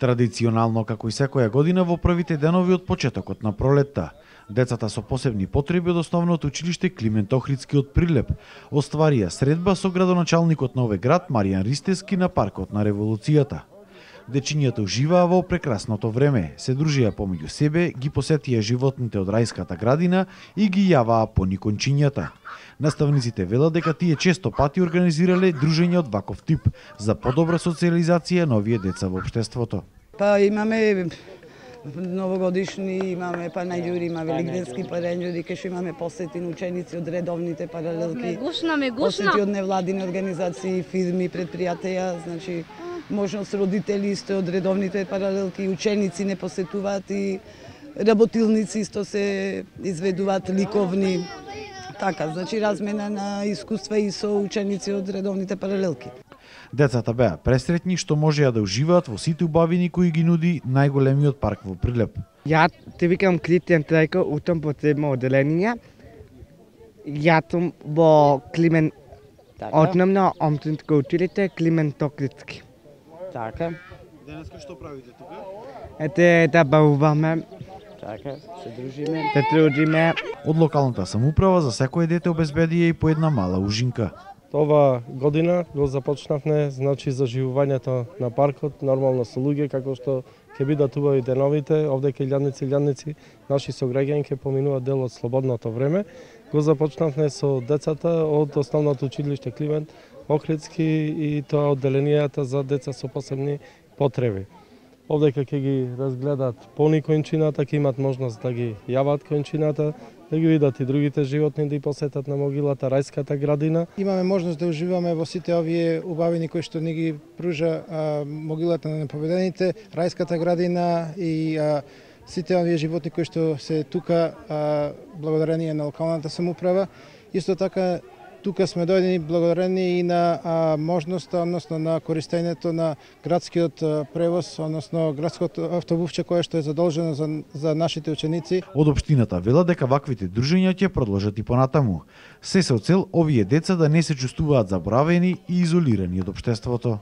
Традиционално, како и секоја година, во првите денови од почетокот на пролетта, децата со посебни потреби од основното училиште Климент Охридски од Прилеп остварија средба со градоначалникот на овој град Маријан Ристевски на паркот на Револуцијата. Дечињата уживаа во прекрасното време, се дружија помеѓу себе, ги посетија животните од рајската градина и ги јаваа поникончињата. Наставниците велат дека тие често пати организирале дружење од ваков тип за подобра социализација на овие деца во општеството. Па имаме новогодишни, имаме панаѓури, има великденски панаѓури, кај што имаме посети на ученици од редовните паралелки. Посети од невладини организации, фирми, предпријатија, значи можност родители исто од редовните паралелки, ученици не посетуваат и работилници исто се изведуваат ликовни. Така, значи размена на искуства и со ученици од редовните паралелки. Децата беа пресретни што можеа да уживаат во сите убавини кои ги нуди најголемиот парк во Прилеп. Ја те викам Клитен Трајко, утам потребно оделенија. Јатум во Климент, основно омтунско училиште Климент Охридски. Така. Денеска што правите тука? Ете да бавуваме. Така, се дружиме, се трудиме. Од локалната самоуправа за секој дете обезбедија и по една мала ужинка. Ова година го започнавме, значи, заживувањето на паркот, нормално со луѓе, како што ќе бидат убави деновите, овде ке илјадници, наши сограѓани ќе поминуваат дел од слободното време. Го започнавме со децата од основното училиште Климент Охридски и тоа одделенијата за деца со посебни потреби. Овде ќе ги разгледат пони кончината, ќе имат можност да ги јават кончината, да ги видат и другите животни, да ги посетат на могилата, рајската градина. Имаме можност да уживаме во сите овие убавини кои што ни ги пружа могилата на неповедените, рајската градина и сите овие животни кои што се тука благодарение на локалната самоуправа. Исто така тука сме дојдени благодарени и на можноста, односно на користењето на градскиот превоз, односно градското автобусче кое што е задолжено за нашите ученици. Од општината велат дека ваквите дружења ќе продолжат и понатаму. Се со цел овие деца да не се чувствуваат заборавени и изолирани од општеството.